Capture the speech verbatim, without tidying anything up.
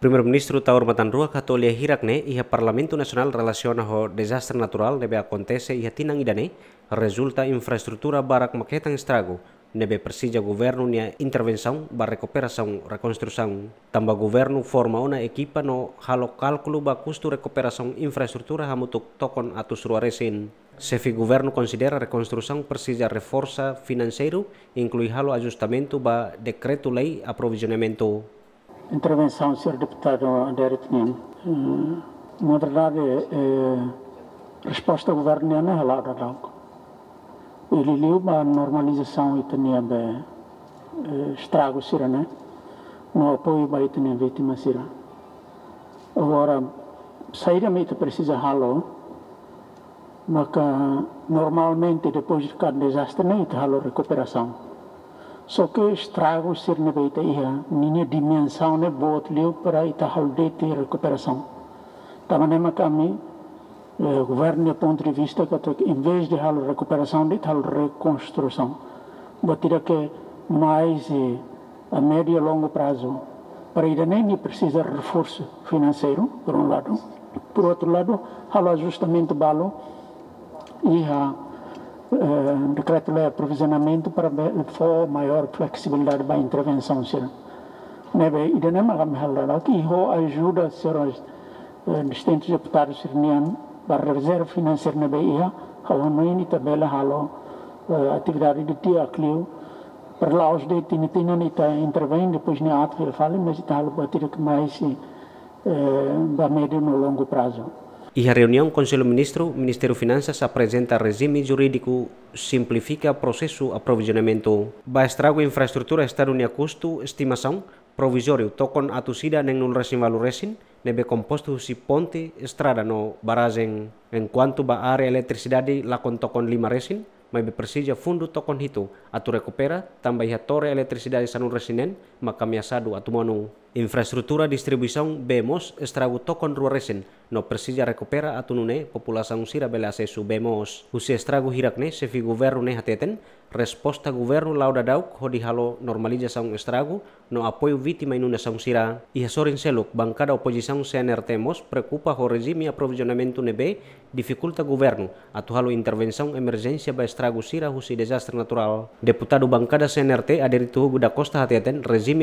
Primeiru-Ministru Taur Matan Ruak hato'o lia hirak ne'e iha Parlamentu Nasionál relasiona ho dezastre naturál ne'ebé akontese iha tinan ida-ne'e, rezulta infraestrutura barak mak hetan estragu, ne'ebé presiza governu nia intervensaun ba rekuperasaun rekonstrusaun. Tanba governu forma ona ekipa no halo kálkulu ba kustu rekuperasaun infraestrutura hamutuk tokon atus rua resin. Xefe governu konsidera rekonstrusaun presiza reforsa finanseiru, inklui halo ajustamentu ba dekretu-lei aprovizionamentu. Intervensaun señór deputadu Adérito nian. Eh, na verdade, eh, resposta governu nian ne'e hala'o daudauk. Liuliu ba normalizasaun ita-nia be, eh, estragu sira-ne'e, no apoiu ba ita-nia vítima sira. Agora, saida mak ita presiza halo, maka normalmente depois de kada dezastre ne'e ita halo rekuperasaun. Só ke estragu sira ne'ebé ita iha, ninia dimensaun ne'e boot liu para ita halo de'it rekuperasaun. Tanba ne'e mak ami, eh, governu nia pontu de vista katak, em vez de halo rekuperasaun, de'it halo rekonstrusaun. Buat ida ke mais, eh, a médiu e longu prazu. Para ida-ne'e nia presiza reforsu finanseiru, por um lado. Por outro lado, halo ajustamentu balu iha, eh, dekretu-lei aprovizionamentu para be-, fó maiór fleksibilidade ba intervensaun sira. Ne'ebé ida-ne'e mak ami halo daudauk, i ho ajuda señór, eh, distintus deputadu sira-nian ba rezerva finanseira ne'ebé iha, ha'u hanoin ita bele halo, eh, atividade di'ak liu, para la'ós de'it tinan-tinan ita intervein, depois nia aat fila fali, mas ita halo buat ida ke mais, eh, ba médiu no longu prazu. Iha reuniaun Konsellu Ministru, Ministériu Finansas aprezenta rejime jurídiku simplifika prosesu aprovizionamentu. Ba estragu infraestrutura Estadu nia kustu estimasaun provizóriu tokon atus ida neenulu resin ualu resin, ne'ebé kompostu husi ponte, estrada no barajen. Enkuantu ba área eletrisidade lakon tokon lima resin, maibé presiza fundu tokon hitu atu rekupera, tanba iha tore eletrisidade sanulu resin neen mak ameasadu atu monu. Infraestrutura distribuisaun bee moos estragu tokon rua resin, no presiza rekupera atu nune'e populasaun sira bele asesu bee moos. Husi estragu hirak ne'e, xefe governu ne'e hateten, resposta governu la'o daudauk hodi halo normalizasaun estragu no apoiu vítima inundasaun sira. Iha sorin seluk, bankada opozisaun C N R T mós preokupa ho rejime aprovizionamentu ne'ebé difikulta governu atu halo intervensaun emerjénsia ba estragu sira husi dezastre naturál. Deputadu bankada C N R T, Adérito Hugo da Costa hateten, rejime